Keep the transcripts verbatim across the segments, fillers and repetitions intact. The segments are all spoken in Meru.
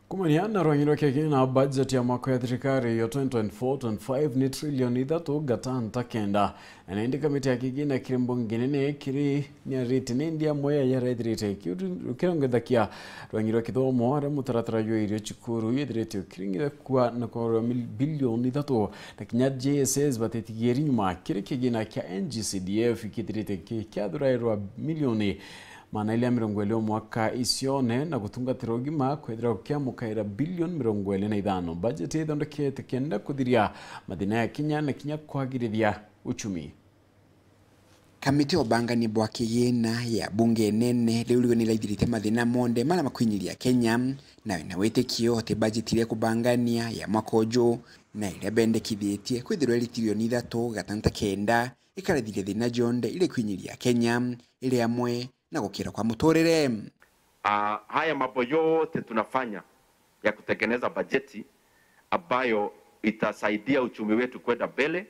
Kumania na rwang'i rwa kigina, budget ya mwaka ya thirikari ya twenty twenty-four twenty-five ni trilioni ithatu gatanta kenda. Na indi kamiti ya kigina kiri mbunge nene kiri niarite ni ndia moya yarethirite kiu kirongethakia rwang'i rwa kithomo, aria mutaratara jwa irio cukuru yethirite ukiringithakua na kwarwa mil-, bilioni ithatu, na kinya J S S batitigiri nyuma. Kiri kigina kia N G C D F kithirite ki-, kiathurairwa milioni maana ili ya mirongo ili o mwaka icione na gutungatira ugima, kwethira gukiamukaira bilioni mirongo ili na ithano. Bajeti ithondekete kenda kuthiria mathina ya kinya na kinya kwagirithia uchumi. Kamiti ya ubangania bwa kigina ya bunge nene riu riu ni iraithiritie mathina monthe maria makwinyiria Kenya, na wina witikio ati bajeti iria ikubangania ya mwaka uju na iria bendekithitie kwithirwa iri trilioni ithatu gatanta kenda ikarathiria thina jonthe iria ikwinyiria Kenya, iri amwe na gukira kwa muturire. Ah, haya mambo yote tunafanya ya kutengeneza bajeti ambayo itasaidia uchumi wetu kwenda mbele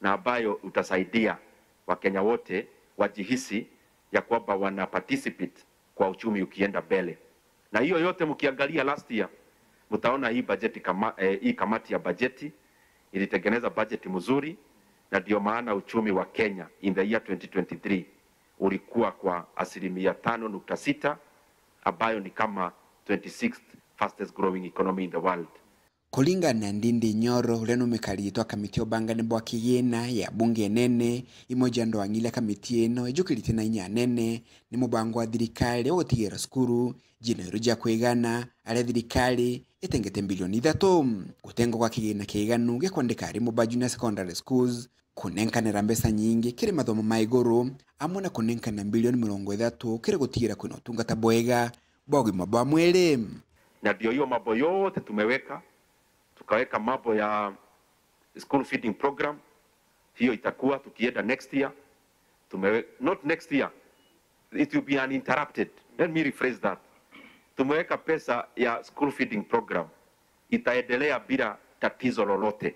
na ambayo utasaidia Wakenya wote wajihisi ya kwamba wana participate kwa uchumi ukienda mbele. Na hiyo yote mkiangalia last year, mtaona hii bajeti kama, eh, hii kamati ya bajeti ilitengeneza bajeti mzuri, na ndio maana uchumi wa Kenya in the year twenty twenty-three ulikuwa kwa asilimia tano nukta sita, ambayo ni kama twenty-sixth fastest growing economy in the world. Kuringana na Ndindi Nyoro, uria ni mukari wa kamiti ya ubangania bwa kigina ya bunge nene, imwe ja ndwang'i iria kamiti ino ijukirite na inya nene ni mubango wa thirikari wa gutigira cukuru jina iru ja kwigana, aria thirikari itengete bilioni ithatu. Gutengwa gwa kigina kiganu gia kwandika arimu ba junior secondary schools, kunenkanira mbeca nyingi kiri mathomo ma iguru, amwe na kunenkana bilioni mirongo ithatu kiri gutigira kwina utungata bwega bwa ugima bwa mwiri. Na ndio hiyo mambo yote tumeweka, tukaweka mambo ya school feeding program, hiyo itakuwa tukienda next year. Tumewe-, not next year, it will be uninterrupted. Let me rephrase that. Tumeweka pesa ya school feeding program, itaendelea bila tatizo lolote,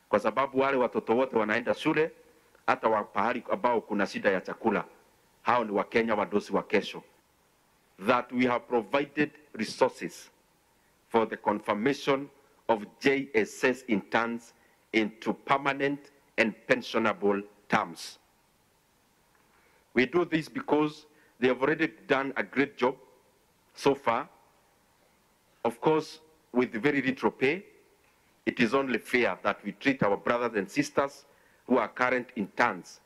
kwa sababu wale watoto wote wanaenda shule, hata wa pahali ambao kuna shida ya chakula, hao ni Wakenya wadosi wa kesho. That we have provided resources for the confirmation of J S S interns into permanent and pensionable terms. We do this because they have already done a great job so far. Of course, with very little pay, it is only fair that we treat our brothers and sisters who are current interns,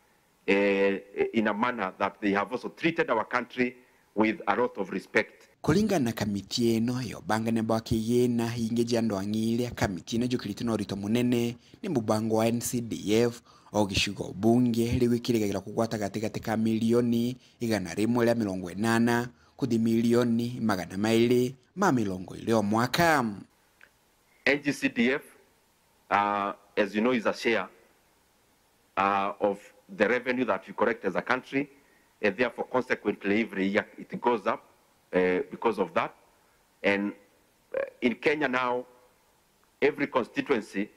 eh, in a manner that they have also treated our country with a lot of respect. Kuringana na kamiti ino ya ubangania bwa kigina, ingi ja ndwang'i iria kamiti ino ijukirite na urito munene ni mubango wa N C D F, o gicigo bunge riu ikirigagirwa kugwata gatigati ka milioni igana rimwe ria mirongo inana kuthi milioni magana mairi ma mirongo iri o mwaka. N G C D F, uh, as you know, is a share, uh, of the revenue that we collect as a country, and therefore, consequently, every year it goes up, uh, because of that. And, uh, in Kenya now, every constituency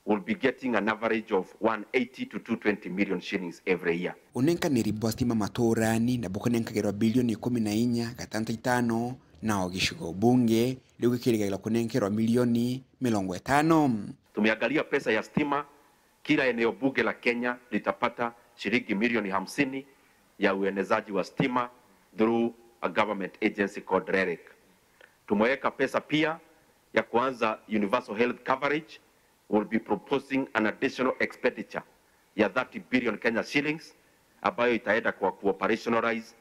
will be getting an average of one eighty to two twenty million shillings every year. Unenkaniri bwa stima maturani nabu kunenkagirwa bilioni ikumi na inya gatanta itano, nao gicigo bunge riu gikirigagirwa kunenkerwa milioni mirongo itano. Tumeangalia pesa ya stima, kila eneo bunge la Kenya litapata shilingi milioni hamsini ya uenezaji wa stima through a government agency called rerec. Tumeweka pesa pia ya kuanza universal health coverage. Will be proposing an additional expenditure ya thirty billion Kenya shillings ambayo itaenda kwa kuoperationalize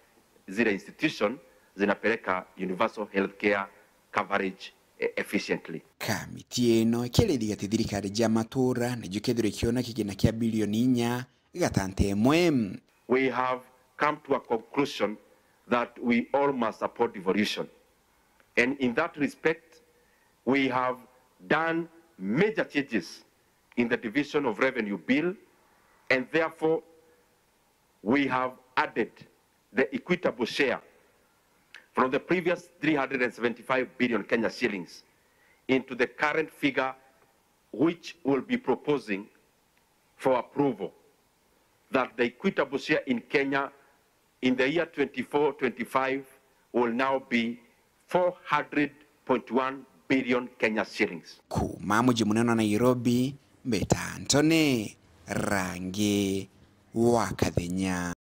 zile institution zinapeleka universal healthcare coverage, eh, efficiently. Kamiti ino ikiarithia ati thirikari ja matura nijo ikethirwa ikiona kigina kia bilioni inya gatanta imwe. We have come to a conclusion that we all must support devolution. And in that respect, we have done major changes in the division of revenue bill, and therefore we have added the equitable share from the previous three hundred and seventy-five billion Kenya shillings into the current figure, which will be proposing for approval, that the equitable share in Kenya in the year twenty-four twenty-five will now be four hundred point one billion Kenya shillings. Kuuma muji munene wa Nairobi, mbeta Anthony Rangi wa Kathenya.